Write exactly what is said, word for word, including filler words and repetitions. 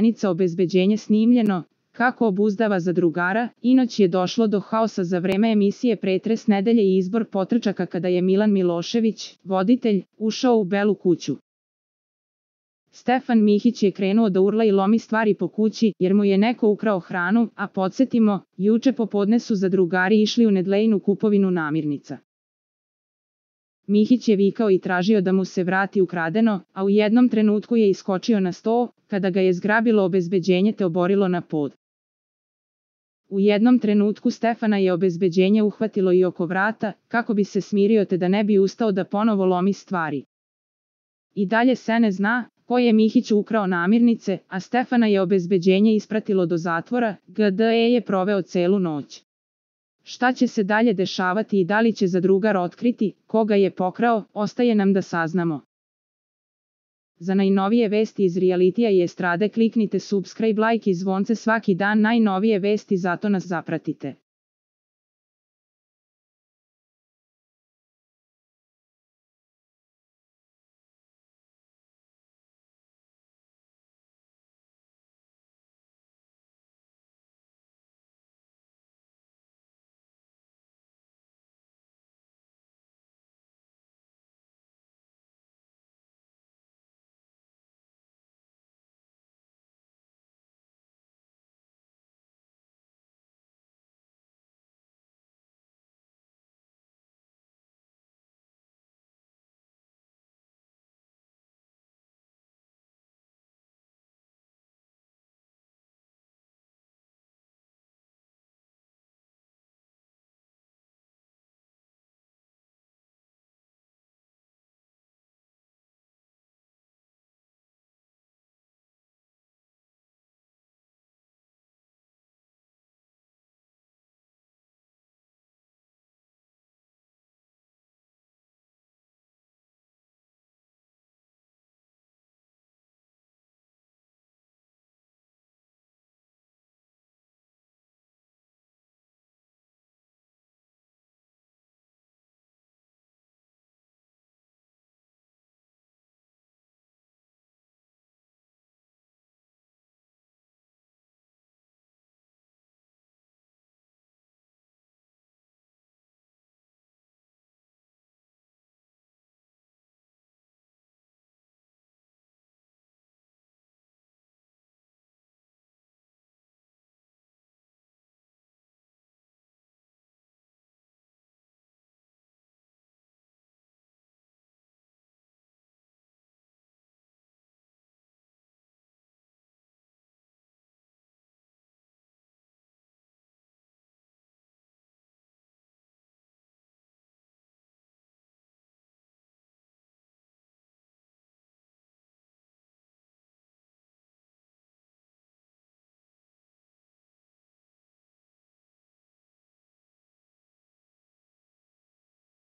Zanica obezbeđenje snimljeno, kako obuzdava zadrugara. Inoć je došlo do haosa za vreme emisije Pretres nedelje i izbor potrčaka kada je Milan Milošević, voditelj, ušao u Belu kuću. Stefan Mihić je krenuo da urla i lomi stvari po kući, jer mu je neko ukrao hranu, a podsjetimo, juče popodne su zadrugari išli u Nedlejinu kupovinu namirnica. Mihić je vikao i tražio da mu se vrati ukradeno, a u jednom trenutku je iskočio na sto, kada ga je zgrabilo obezbeđenje te oborilo na pod. U jednom trenutku Stefana je obezbeđenje uhvatilo i oko vrata, kako bi se smirio te da ne bi ustao da ponovo lomi stvari. I dalje se ne zna ko je Mihiću ukrao namirnice, a Stefana je obezbeđenje ispratilo do zatvora, gde je proveo celu noć. Šta će se dalje dešavati i da li će zadrugar otkriti koga je pokrao, ostaje nam da saznamo. Za najnovije vesti iz realitija i estrade kliknite subscribe, like i zvonce svaki dan, najnovije vesti, zato nas zapratite.